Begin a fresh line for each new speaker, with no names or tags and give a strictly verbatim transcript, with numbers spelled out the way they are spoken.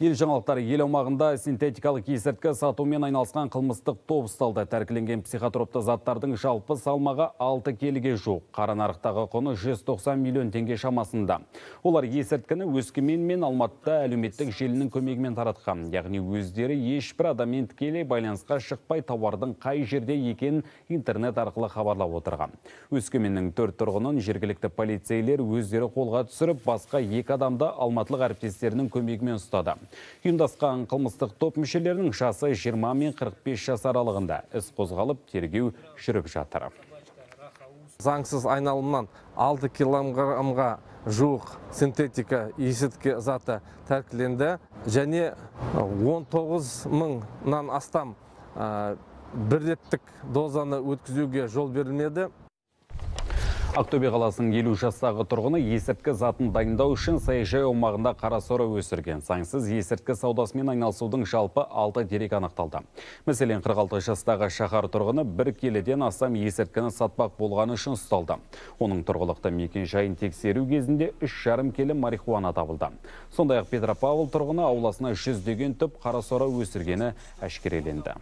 Ел жаңалықтары ел аумағында синтетикалық есірткі сатумен айналысқан қылмыстық топ ұсталды. Тәркіленген психотропты заттардың жалпы салмағы алты келіге жуық. Қара нарықтағы құны жүз тоқсан миллион теңге шамасында. Олар есірткіні Өскемен мен Алматыда әлеуметтік желінің көмегімен таратқан. Яғни өздері ешбір адаммен тікелей байланысқа шықпай тауардың қай жерде екенін интернет арқылы хабарлап отырған. Өскеменнің төрт тұрғынын жергілікті полицейлер өздері қолға түсіріп, басқа екі адамды алматылық әріптестерінің көмегімен ұстады. Ұйымдасқан қылмыстық топ мүшелерінің жасы жиырма мен қырық бес жас аралығында. Іс қозғалып, тергеу жүріп жатыр.
Заңсыз айналымнан алты килограммға жуық синтетика есірткі заты тәркіленді және он тоғыз мыңнан астам бір реттік дозаны өткізуге жол берілмеді.
Ақтөбе қаласының елу жастағы тұрғыны есірткі затын дайындау үшін саяжай аумағында қарасора өсірген. Заңсыз есірткі саудасымен айналысудың жалпы алты дерек анықталды. Мәселен, қырық алты жастағы шаһар тұрғыны бір келіден астам есірткіні сатпақ болғаны үшін ұсталды. Оның тұрғылықты мекен жайын тексеру кезінде үш жарым келі марихуана табылды. Сондай-ақ Петропавл тұрғыны ауласына жүздеген түп қарасора өсіргені әшкереленді.